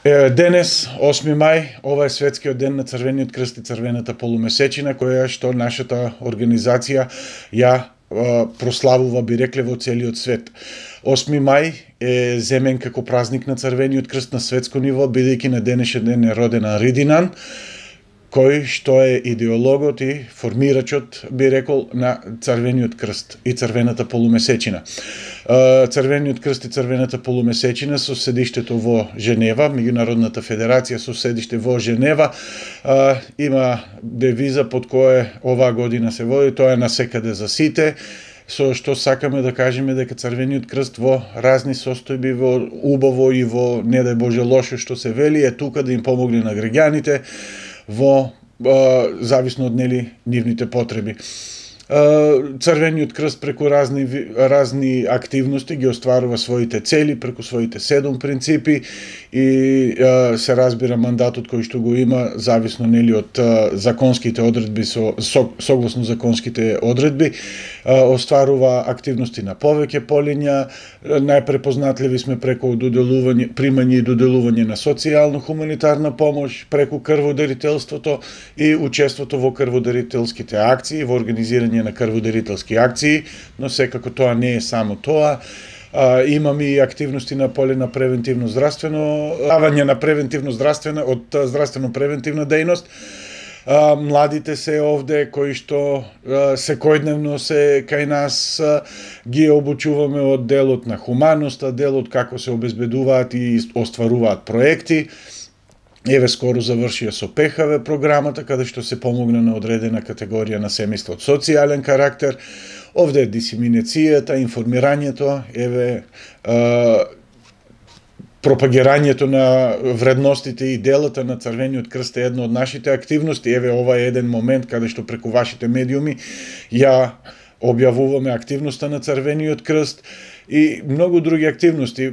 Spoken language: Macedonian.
Денес, 8 мај, ова е светскиот ден на Црвениот крст и Црвената полумесечина, која што нашата организација ја прославува, би рекле, во целиот свет. 8 мај е земен како празник на Црвениот крст на светско ниво, бидејќи на денешен ден е роден Анри Динан, кој што е идеологот и формирачот, би рекол, на Црвениот крст и Црвената полумесечина. Црвениот крст и Црвената полумесечина со седиштето во Женева, меѓународната федерација со седиште во Женева, има девиза под која оваа година се води, тоа е насекаде за сите, со што сакаме да кажеме дека Црвениот крст во разни состојби, во убаво и во, не дај Боже, лошо што се вели, е тука да им помогне на граѓаните во зависно од нивните потреби. Црвениот крст преку разни активности ги остварува своите цели преку своите 7 принципи и се разбира мандатот кој што го има зависно од законските одредби, согласно законските одредби, остварува активности на повеќе полиња. Најпрепознатливи сме преку примање и доделување на социјално-хуманитарна помош, преку крводарителството и учеството во крводарителските акции, во организирање на крводарителски акции, но секако тоа не е само тоа. Имаме и активности на поле на превентивно-здравствено, давање на превентивно-здравствена, од здравствено-превентивна дејност. Младите се овде, кои што секојдневно се кај нас, ги обучуваме од делот на хуманоста, делот како се обезбедуваат и остваруваат проекти. Еве скоро завршија со ПХВ програмата, каде што се помогна на одредена категорија на семејства од социјален карактер. Овде е дисеминацијата, информирањето, еве пропагирањето на вредностите и делата на Црвениот крст е една од нашите активности. Еве ова е еден момент каде што преку вашите медиуми ја објавуваме активноста на Црвениот крст и многу други активности.